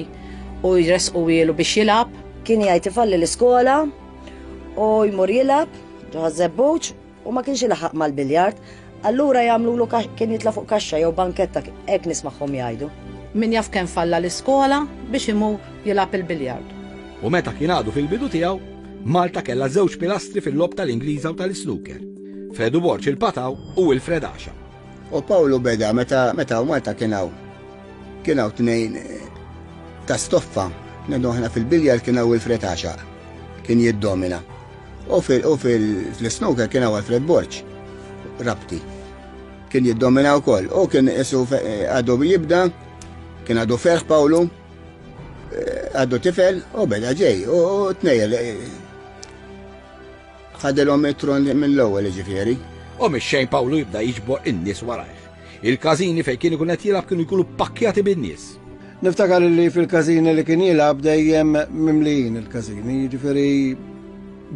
u jresqu ilu biex jilgħab. Kien jgħid ifalli l-iskola u jmur jilgħab ġo Ħaż-Żebbuġ u ma kienx ilaħaq mal-biljard. Allura jagħmlulu kien jitla' fuq kaxxa jew banketta hekk nismagħhom jgħidu. Min jaf kemm falla l-iskola biex imur jilgħab il-biljard. U meta kien għadu fil-bidu tiegħu, Malta kellha żewġ pilastri fil-logħob tal-Ingliża u tal-snooker. Fredu Borg il-Pataw u Wilfred Għaxa. U Pawlu beda meta meta u Malta kien hawn. Kien hawn tnejn eh, ta' stoffa, ngħidu aħna fil-biljar kien hawn Wilfred Għaxa. Kien jiddomina. U fil-snooker kien hawn Alfred Borg, Rabti. Kien jiddomina wkoll. U kien isu eh, għadu jibda, kien għadu ferħ Pawlu, eh, għadu tifel u beda ġej. U tnejn ħadilhom it-tron mill-ewwel ġifieri. U mix-xejn Pawlu jibda jiġbor in-nies warajh. Il-każini fejn kien ikun qed jilgħab kienu jkunu pakkjati bin-nies. Niftakar li fil-każini li kien jilgħab dejjem mimlijin il-każini, jiġifieri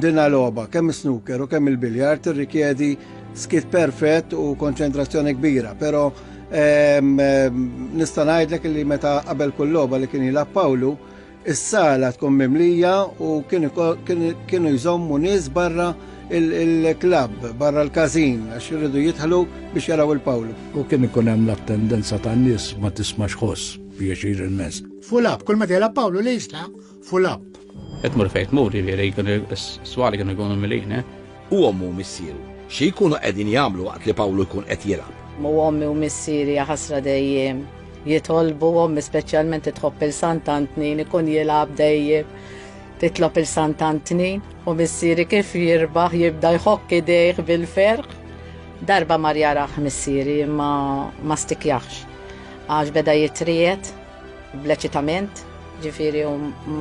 dina logħba kemm snooker u kemm il-biljard tirrikjedi skiet perfett u konċentrazzjoni kbira, però ehm, ehm, nista' ngħidlek li meta qabel kull logħba li kien jilgħab Pawlu, is-sala tkun mimlija u kienu jżommu nies barra il-klabb, barra l-każin, għax irridu jidħlu biex jaraw il-Pawlu. U kien ikun hemm l-attendenza tan-nies ma tismax ħoss pjaċir immens. Full up, kull meta jilgħab Pawlu li jisla, full up. Qed tmur fejn tmur, jiġifieri kienu s-swali kienu jkunu mimlijin, eh? U ommu u missieru, xi jkunu qegħdin jagħmlu waqt li Pawlu jkun qed jilgħab? U ommi u missieri ħasra dejjem jitolbu, ommi speċjalment tħobb il-Sant'Antnin, ikun jilgħab dejjem titlob il-Sant'Antnin u missieri kif jirbaħ jibda jħokk idejh bil-ferħ. Darba mar jarah missieri imma ma stikjaħx għax beda jitriet bl-eċitament, ġifieri u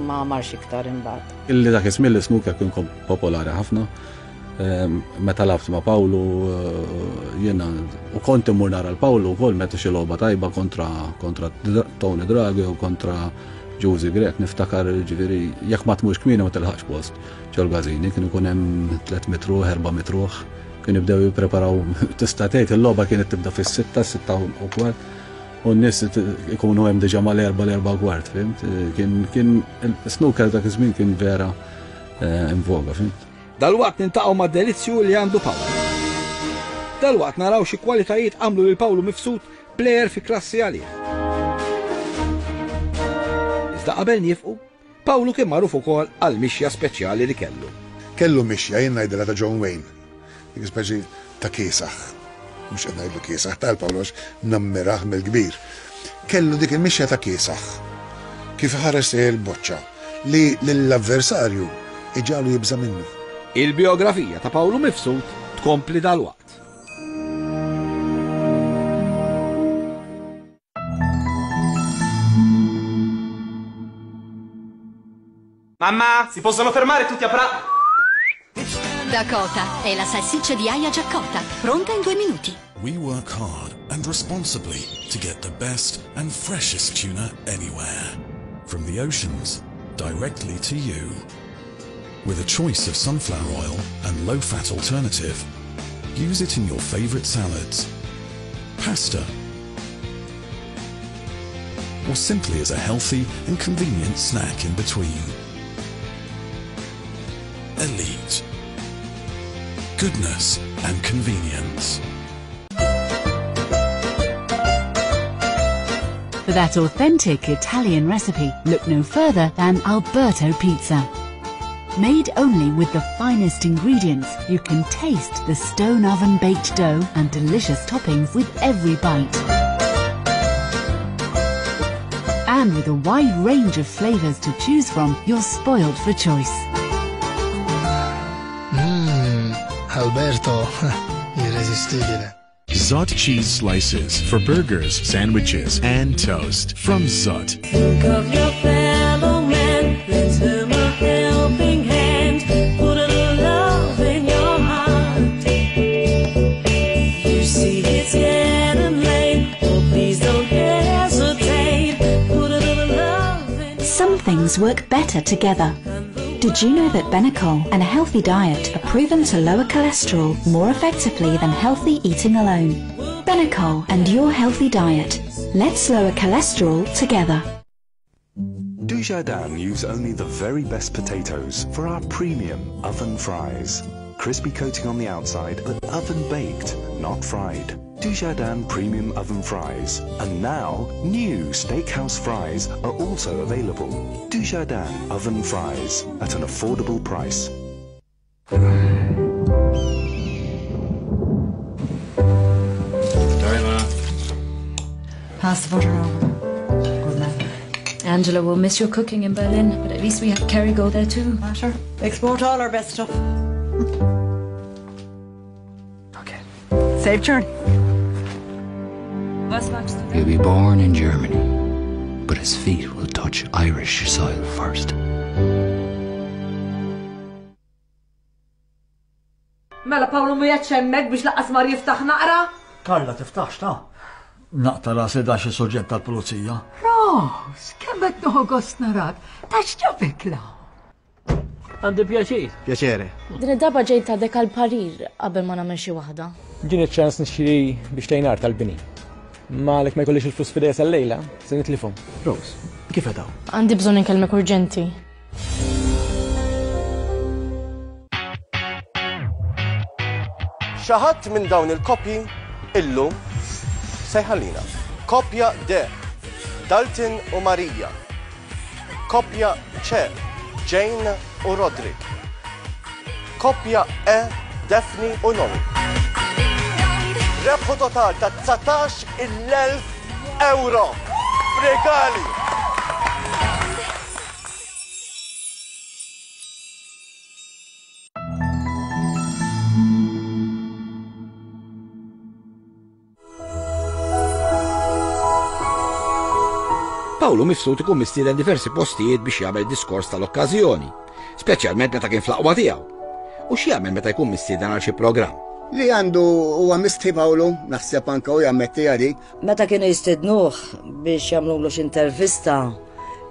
ma marx iktar imbagħad. Illi dak iż-żmien l-snooker kien popolari ħafna. Ehm, meta lgħabt ma' Pawlu eh, jiena u kont immur nara l-Pawlu wkoll meta xi logħba tajba kontra kontra Tony Draghi u kontra Ġużi Grech, niftakar ġifieri jekk ma tmurx kmieni ma tilħaqx post ġol-każini, kien ikun hemm tliet mitt ruħ, erba' mitt ruħ, kien jibdew jippreparaw, tista' tgħid il-logħba kienet tibda fis-sitta, sitta u kwart, u n-nies ikunu hemm diġà mal-erba' l-erba' u kwart, fhimt? Kien kien il-snooker dak iż-żmien kien vera eh, in voga, fhimt? Dalwaqt niltaqgħu mad-delizzju li għandu Pawlu. Dalwaqt naraw xi kwalitajiet għamlu lil Pawlu Mifsud plejer fi klassi għalih. Iżda qabel nifqu, Pawlu kien magħruf ukoll għal mixja speċjali li kellu. Kellu mixja jien ngħidilha ta' John Wayne. Dik speċi ta' kiesaħ. Mhux qed ngħidlu kiesaħ tal-Pawlu għax nammirah mill-kbir. Kellu dik il-mixja ta' kiesaħ. Kif ħares il-boċċa li lill-avversarju iġalu jibża' minnu. Il-biografija ta' Pawlu Mifsud tkompli dalwaqt. Mamma, si possono fermare tutti a pra... Dakota è la salsiccia di aia già cotta, pronta in due minuti. We work hard and responsibly to get the best and freshest tuna anywhere. From the oceans, directly to you. With a choice of sunflower oil and low-fat alternative, use it in your favorite salads, pasta, or simply as a healthy and convenient snack in between. Elite. Goodness and convenience. For that authentic Italian recipe, look no further than Alberto Pizza. Made only with the finest ingredients, you can taste the stone oven baked dough and delicious toppings with every bite. And with a wide range of flavours to choose from, you're spoiled for choice. Mmm, Alberto, irresistibile. Zut cheese slices for burgers, sandwiches, and toast from Zut. Think of your fellow man, lend him a helping hand, put a little love in your heart. You see it's getting late, oh please don't hesitate, put a little love in. Some things work better together. Did you know that Benecol and a healthy diet are proven to lower cholesterol more effectively than healthy eating alone? Benecol and your healthy diet. Let's lower cholesterol together. Dujardin use only the very best potatoes for our premium oven fries. Crispy coating on the outside, but oven baked, not fried. Dujardin Premium Oven Fries. And now, new Steakhouse Fries are also available. Dujardin Oven Fries at an affordable price. Sorry, Ma. Pass the butter over. Good man. Angela will miss your cooking in Berlin, but at least we have Kerrygold there too. Matter. Export all our best stuff. Okay. Safe journey. He'll be born in Germany, but his feet will touch Irish soil first. Mela Pawlu mu hemmhekk biex lanqas mar jiftaħ naqra? Karla tiftaħx ta' naqta rasi da xi soġġett tal-pulizija. Ros, kemm qed nieħu gost narak, ta' x'ġabek la? Għandi pjaċir. Piacere. Din id-darba ġejt għadek għal parir qabel ma nagħmel xi waħda. Ġini ċans nixtri biex tejnar tal-bini. Ma għalek ma jkollix il-flus f'idejja sal-lejla, se nitlifhom. Rose, kif qed hawn? Għandi bżonn inkellmek urġenti. Xi ħadd minn dawn il-koppji illum se jħallina. Koppja D, Dalton u Marija. Koppja C, Jane u Roderick. Koppja E, Daphne u Noe. Rebħu total ta' dsatax il-elf euro. Regali! Pawlu Mifsud ikun mistieden diversi postijiet biex jagħmel diskors tal-okkażjoni, speċjalment meta kien fl-aqwa tiegħu. U x'jagħmel meta jkun mistieden għal xi programm? Li għandu huwa mistħi Pawlu, naħseb anke u jammetti għadi. Meta kienu jistednuh biex jagħmlulu x'intervista,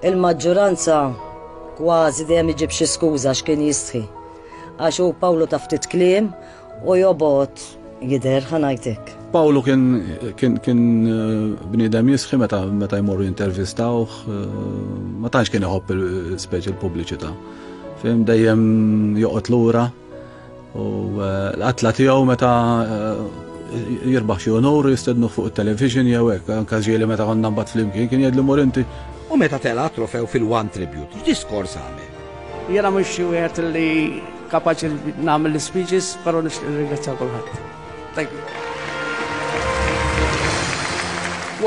il-maġġoranza kważi dejjem iġib xi skuża x'kien jistħi. Għax hu Pawlu ta' ftit kliem u jobgħod jidher ħa ngħidlek. Pawlu kien kien kien bniedem jisħi meta meta jmorru jintervistawh, ma tantx kien iħobb speċi l-pubbliċità. Fim dejjem joqgħod lura u l-qatla tiegħu meta jirbaħ xi onor jistednu fuq it-television jew hekk, anke ġieli meta konna mbagħad flimkien kien jgħidli mur inti. U meta tela' trofew fil-One Tribute, x'diskors għamel? Jiena mhux xi wieħed li kapaċi nagħmel l-speeches, però nixtieq nirringrazzja kulħadd. Thank you.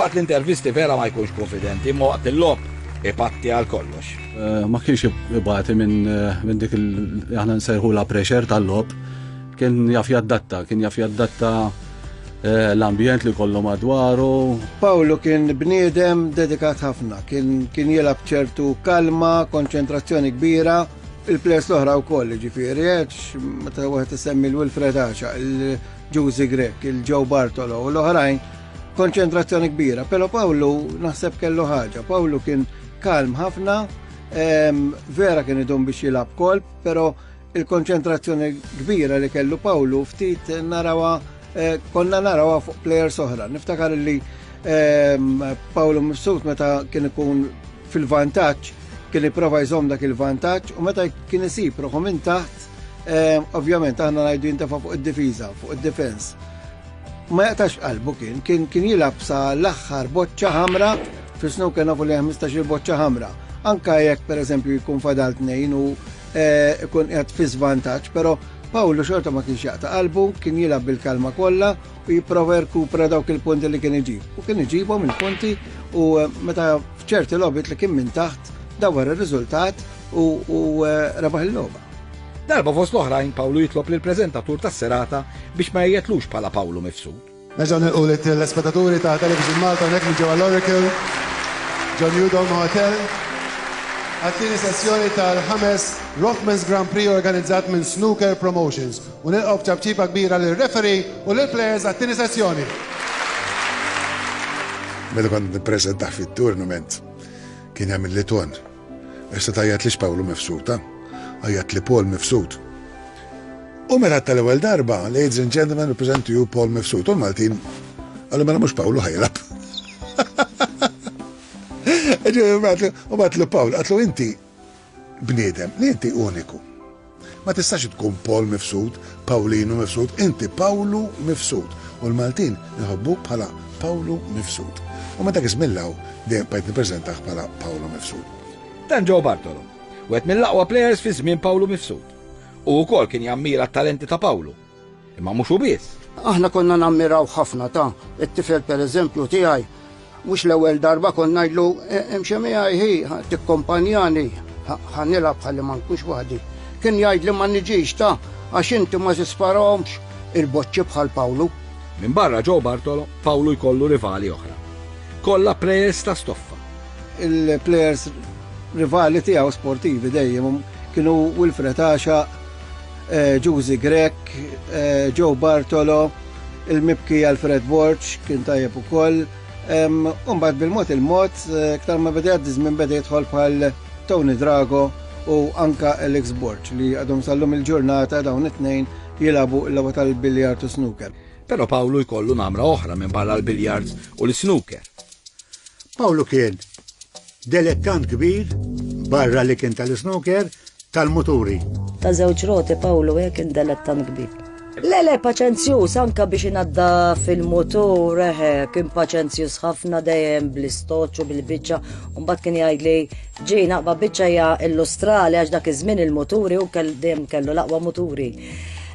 Waqt l-intervisti vera ma jkunx konfidenti, imma waqt il-logħob ipatti għal kollox. Ma kienx ibati minn minn dik il aħna nsejħu la pressure tal-logħob, kien jaf jaddatta, kien jaf jaddatta L-ambjent li kollu madwaru. Pawlu kien bniedem dedikat ħafna, kien, kien jilgħab ċertu kalma, konċentrazzjoni kbira, il-players l-oħra wkoll, ġifieri, meta wieħed isemmi l-Wilfred Axa, il-Ġużi Grech, il-Joe Bartolo u l-oħrajn, konċentrazzjoni kbira. Però Pawlu naħseb kellu ħaġa. Pawlu kien kalm ħafna, vera kien idum biex jilgħab kolb, però il-konċentrazzjoni kbira li kellu Pawlu ftit narawha, konna narawha fuq players oħra. Niftakar li Pawlu Mifsud meta kien ikun fil-vantaġġ kien jipprova jżomm dak il-vantaġġ u meta kien isib ruħu minn taħt, ovvjament aħna ngħidu jintefa' fuq id-difiża, fuq id-difens. Ma jaqtax qalbu kien, kien kien jilgħab sa l-aħħar boċċa ħamra, fis-snooker nafu li ħmistax-il boċċa ħamra. Anka jekk pereżempju jkun fadal tnejn u ikun qiegħed fi żvantaġġ, però Pawlu xorta ma kienx jaqta' qalbu, kien jilgħab bil-kalma kollha u jipprova jirkupra dawk il-punti li kien iġib. U kien iġibhom il-punti u meta f'ċerti logħbiet li kien minn taħt dawar ir-riżultat u, u rebaħ il-logħba. Darba fost l-oħrajn Pawlu jitlob lill-preżentatur tas-serata biex ma jgħidlux bħala Pawlu Mifsud. Nerġgħu nilqu lit-telespettaturi ta' Television Malta hawnhekk minn ġewwa l-Oracle, ġo New Dome Hotel, għat-tieni sessjoni tal-ħames Rothmans Grand Prix organizzat minn Snooker Promotions. U nilqgħu b'ċapċipa kbira lir-referee u lill-players għat-tieni sessjoni. Meta kont nippreżentah fit-tournament kien jagħmel li ton. Issa tgħajjatlix Pawlu Mifsud, għajjat li Paul Mifsud. U meta tal-ewwel darba, ladies and gentlemen, represent to you Paul Mifsud. U l-Maltin qalu mela mhux Pawlu ħa jilgħab. U għedtlu Paul, għedtlu inti bniedem, li inti uniku. Ma tistax tkun Paul Mifsud, Paulino Mifsud, inti Pawlu Mifsud. U l-Maltin nħobbu bħala Pawlu Mifsud. U meta kismillaw, dejjem bqajt nippreżentah bħala Pawlu Mifsud. Dan Joe Bartolo, wieħed mill-aqwa players fi żmien Pawlu Mifsud. U wkoll kien jammira t-talenti ta' Pawlu. Imma mhux hu biss. Aħna konna nammiraw ħafna ta' it-tifel pereżempju tiegħi. Mhux l-ewwel darba konna ngħidlu imxi miegħi hi, tikkompanjani, ħa nilgħab ħalli ma nkunx waħdi. Kien jgħid li ma niġix ta' għax inti ma tisparahomx il-boċċi bħal Pawlu. Minn barra Joe Bartolo, Pawlu jkollu rivali oħra. Kollha players ta' stoffa. Il-players rivali tiegħu sportivi dejjem kienu Wilfred Axa, Ġużi Grech, Joe Bartolo, il-mibki Alfred Borg kien tajjeb ukoll. Umbagħad bil-mod il-mod, iktar ma beda jgħaddi żmien beda jidħol bħal Tony Drago u anka Alex Borg li għadhom sallum il-ġurnata dawn it-tnejn jilagħbu l-logħba tal-biljard u snooker. Però Pawlu jkollu namra oħra minn barra l-biljards u l-snooker. Pawlu kien delettant kbir barra li kien tal-snooker tal-muturi. Ta' żewġ roti Pawlu kien delettant kbir. Le, le, paċenzjuż, anka biex inadda fil-motur, eħe, kien paċenzjuż ħafna dejjem bl-istoċ u bil-biċċa, u mbagħad kien jgħidli ġi naqba biċċa hija illustrali għax dak iż-żmien il-muturi u dejjem kellu l-aqwa muturi.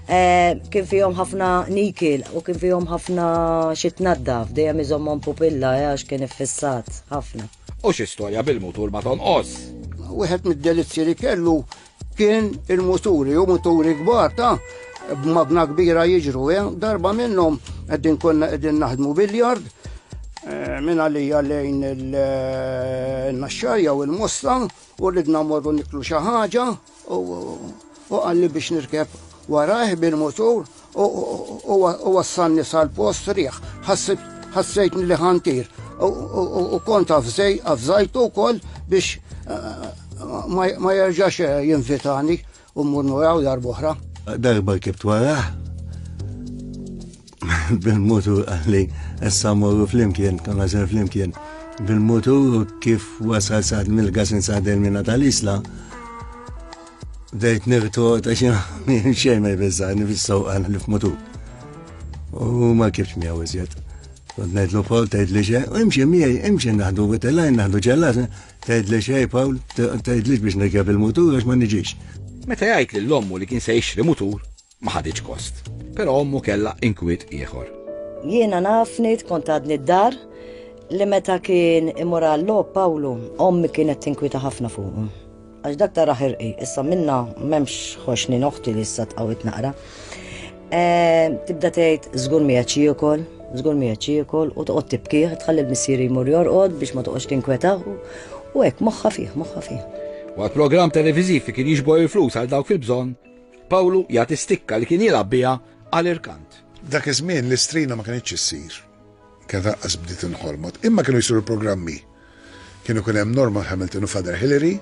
Kien fihom ħafna nikil u kien fihom ħafna xi tnaddaf, dejjem iżommhom pupilla għax kien iffissat ħafna. U xi storja bil-mutur ma tonqos. Wieħed mid-delizzji li kellu kien il-muturi, u muturi kbar ta' b'magna kbira jiġru, eh? Darba minnhom qegħdin konna qegħdin naħdmu biljard, minn għalija lejn il-Naxxarja u l-Mosta, u ridna mmorru niklu xi ħaġa, u qalli biex nirkeb warajh bil-mutur u wassalni sal-post riħ, ħassejtni li ħantir u kont avżajtu wkoll biex ma jerġax jinvitani u mmur nuraw darb'oħra. Darba rkibt warah bil-mutur qalli issa mmorru flimkien, konna ser flimkien bil-mutur u kif wasal sad mill-gasin sad il-mina tal-Isla bdejt nirtod għax xejn ma jbeżżani fis-sewqan li f'mutur. U ma rkibx miegħu iżjed. Kont ngħidlu Paul tgħidli xejn, imxi miegħi, imxi naħdu witellajn, naħdu ġellat, tgħidli xejn Paul, tgħidlix biex nirkeb il-mutur għax ma niġix. Meta jgħid lil ommu li kien se jixtri mutur, ma ħaditx kost. Però ommu kellha inkwiet ieħor. Jiena naf ngħid kont għadni d-dar li meta kien imur għall-logħob Pawlu, ommi kienet tinkwieta ħafna fuqu. Għax dak tara ħirqi, issa minna m'hemmx ħoxni noħti li issa tqawwit naqra. Tibda tgħid żgur miegħek jiekol, Żgur miegħed jiekol u toqgħod tibkih, tħalli l-missieri jmur jorqod biex ma toqgħodx tinkwetah u hekk moħħa fih, moħħa fih. Waqt programm televiżiv li kien jiġbor il-flus għal dawk fil-bżonn, Pawlu jagħti stikka li kien jilgħab biha għal irkant. Dak iż-żmien l-istrina ma kinitx issir. Kienet lanqas bdiet inħolmot, imma kienu jsiru programmi. Kienu kien hemm Norman Hamilton u Father Hillary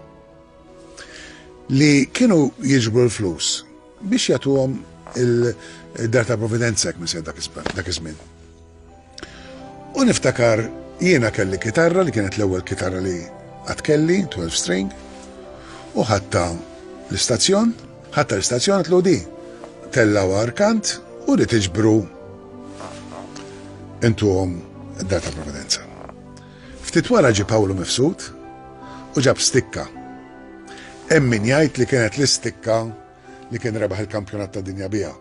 li kienu jiġbru l-flus biex jagħtuhom il-Dar ta' Providenza jekk minn dak iż-żmien. U niftakar jiena kelli kitarra li kienet l-ewwel kitarra li qatt kelli, twelve string, u ħadtha l-istazzjon, ħadtha l-istazzjon għedtlu di, tellgħu arkant u li tiġbru intuhom id-Dar ta' Providenza. Ftit wara ġie Pawlu Mifsud u ġab stikka. Hemm min jgħid li kienet l-istikka li kien rebaħ il-kampjonat ta' dinja biha.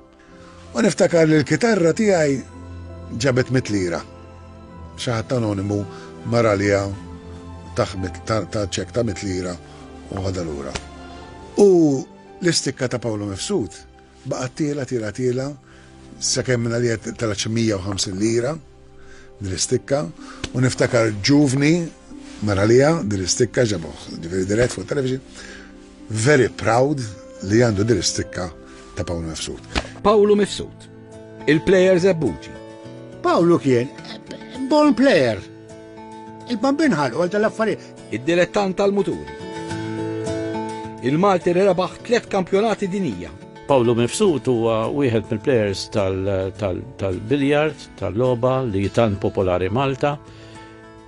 U niftakar li l-kitarra tiegħi ġabet mitt lira. Xi ħadd anonimu mar għaliha ta' ċekk ta' mitt lira u ħadha lura. U l-istikka ta' Pawlu Mifsud baqgħet tiela tiela tiela sakemm minn għalija telgħet xi mija u ħamsin lira din l-istikka u niftakar ġuvni mar għalija din l-istikka ġabuh, ġifieri dirett fuq television, very proud li għandu din l-istikka ta' Pawlu Mifsud. Pawlu Mifsud, il-player Żebbuġi. Pawlu kien born player. Il-bambin ħalqu għal tal-affarijiet. Id-dilettant tal-muturi. Il-Malti li rebaħ tliet kampjonati dinija. Pawlu Mifsud huwa wieħed mill-players tal-biljard, tal-logħba li tant popolari Malta,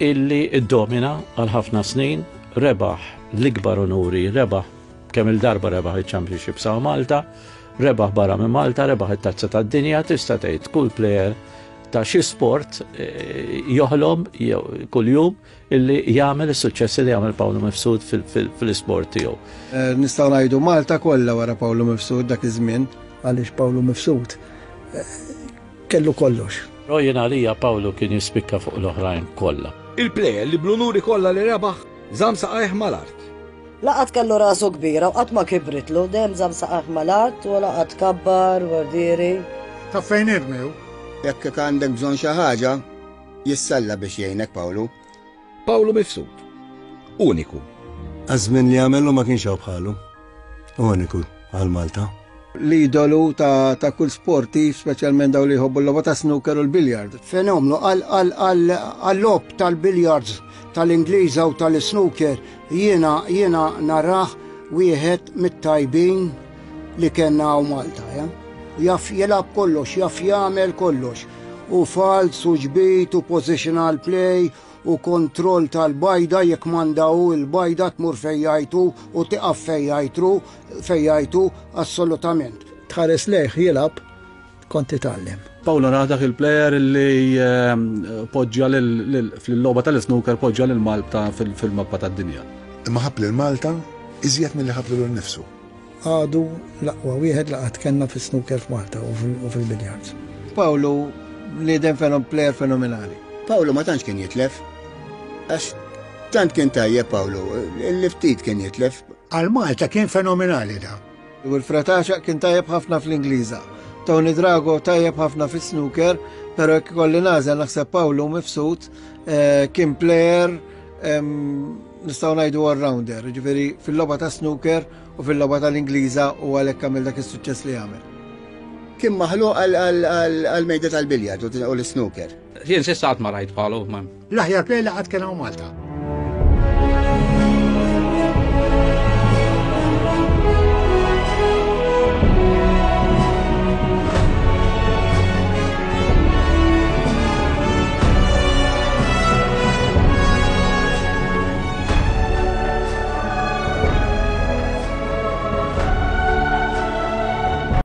illi iddomina għal ħafna snin, rebaħ l-ikbar onuri, rebaħ kemm il-darba rebaħ il-Championship sa' Malta, rebaħ barra minn Malta, rebaħ it-tazza tad-dinja, tista' tgħid kull player ta' xi sport joħlom kuljum illi jagħmel is-suċċessi li jagħmel Pawlu Mifsud fil-isport tiegħu. Nistgħu ngħidu Malta kollha wara Pawlu Mifsud dak iż-żmien. Għaliex Pawlu Mifsud kellu kollox. Però jien għalija Pawlu kien jispikka fuq l-oħrajn kollha. Il-plejer li bl-unuri kollha li rebaħ żamm saqajh mal-art. Laqat kellu rasu kbira u qatt ma kibritlu, dejjem żamm saqajh mal-art u laqat kabbar, wardieri. Ta' fejn irmew? Jekk għandek bżonn xi ħaġa, jissalla biex jgħinek Pawlu. Pawlu Mifsud, uniku. Għaż-żmien li għamelu ma kienx hawn bħalu. Uniku għal Malta. L-idolu ta', ta' kull sportiv, speċjalment daw li jħobbu l-logħba ta' snooker u l-biljard. Fenomenu għal-logħob tal-biljards tal-Ingliża u tal-snooker jiena jiena narah wieħed mit-tajbin li kellna hawn Malta. Ja? Jaf jilgħab kollox, jaf jagħmel kollox. U fals, u ġbit, u positional play, u kontroll tal-bajda, jekk mandaw il-bajda tmur fejjajtu u tiqaf fejjajtru, fejjajtu assolutament. Tħares lejh jilgħab kont titgħallem. Pawlu nara dak il-player li poġġa fil-logħba tal-snooker poġġa lil Malta fil-mappa tad-dinja. Imma ħabb lil Malta iżjed milli ħabb lilu nnifsu. Għadu l-aqwa wieħed li qatt kellna fis-snooker f'Malta u fil-biljards. Pawlu bniedem fenom player fenomenali. Pawlu ma tantx kien jitlef. Għax tant kien tajjeb Pawlu, li ftit kien jitlef. Għal Malta kien fenomenali da. Wilfred Għaxaq kien tajjeb ħafna fl-Ingliża. Tony Drago tajjeb ħafna fis-snooker, però jekk ikolli nagħżel naħseb Pawlu Mifsud kien player nistgħu ngħidu all-rounder, jiġifieri fil-logħba ta' snooker u fil-logħba tal-Ingliża u għalhekk għamel dak is-suċċess li għamel. Kien maħluq għal-mejda tal-biljard u l-snooker. Jien s'issa qatt ma rajt bħalu, ma. L-aħjar player li qatt kien hawn Malta.